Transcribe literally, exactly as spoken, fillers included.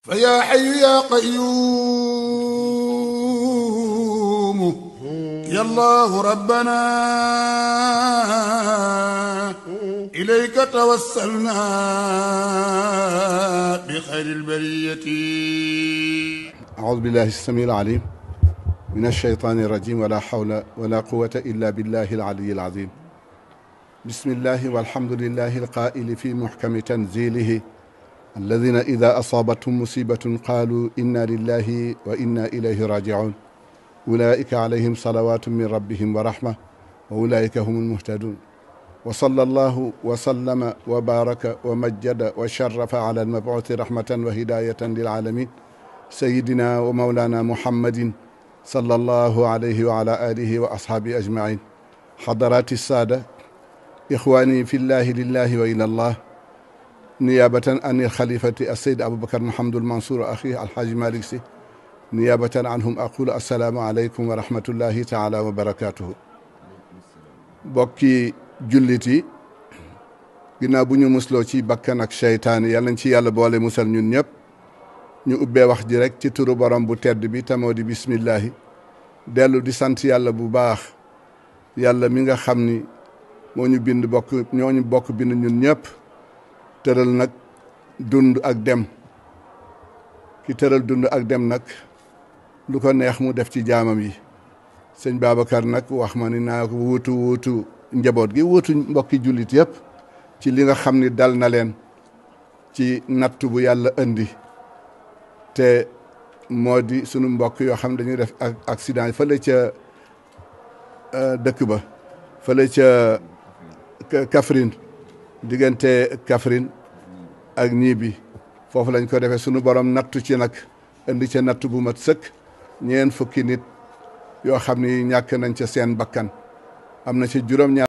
فيا حي يا قيوم يا الله ربنا إليك توسلنا بخير البرية. أعوذ بالله السميع العليم من الشيطان الرجيم ولا حول ولا قوة إلا بالله العلي العظيم. بسم الله والحمد لله القائل في محكم تنزيله الذين إذا أصابتهم مصيبة قالوا إنا لله وإنا إليه راجعون أولئك عليهم صلوات من ربهم ورحمة وأولئك هم المهتدون. وصلى الله وسلم وبارك ومجد وشرف على المبعوث رحمة وهداية للعالمين سيدنا ومولانا محمد صلى الله عليه وعلى آله وأصحابه أجمعين. حضرات السادة إخواني في الله لله وإلى الله، نيابة عن الخليفة السيد أبو بكر محمد المنصور أخيه الحاج مالك سي، نيابة عنهم أقول السلام عليكم ورحمة الله تعالى وبركاته. bokki jullit yi, ginnaaw bu ñu musloo ci bakkan ak seytaane yàlla nañ ci yàlla boole musal ñun ñëpp, ñu ubbee wax ji rek ci turu borom bu tedd bi tamoo di bismillahi, dellu di sant yàlla bu baax, yàlla mi nga xam ni moo ñu bind bokk ñoo ñu bokk bind ñun ñëpp, tëral nag dund ak dem. ki tëral dund ak dem nag lu ko neex mu def ci jaamam yi. sëñ Babacar nag wax ma ni naa ko wuutu wuutu njaboot gi, wuutu mbokki jullit yëpp ci li nga xam ni dal na leen ci nattu bu yàlla indi, te moo di sunu mbokk yoo xam dañuy def ak accident fële ca dëkk ba, fële ca Kaffrine, diggante Kaffrine ak ñii bi foofu lañ ko defee. sunu borom nattu ci nag indi ca nattu bu mat sëkk, ñeen fukki nit yoo xam ni ñàkk nañ ca seen bakkan, am na ci juróom-ñaar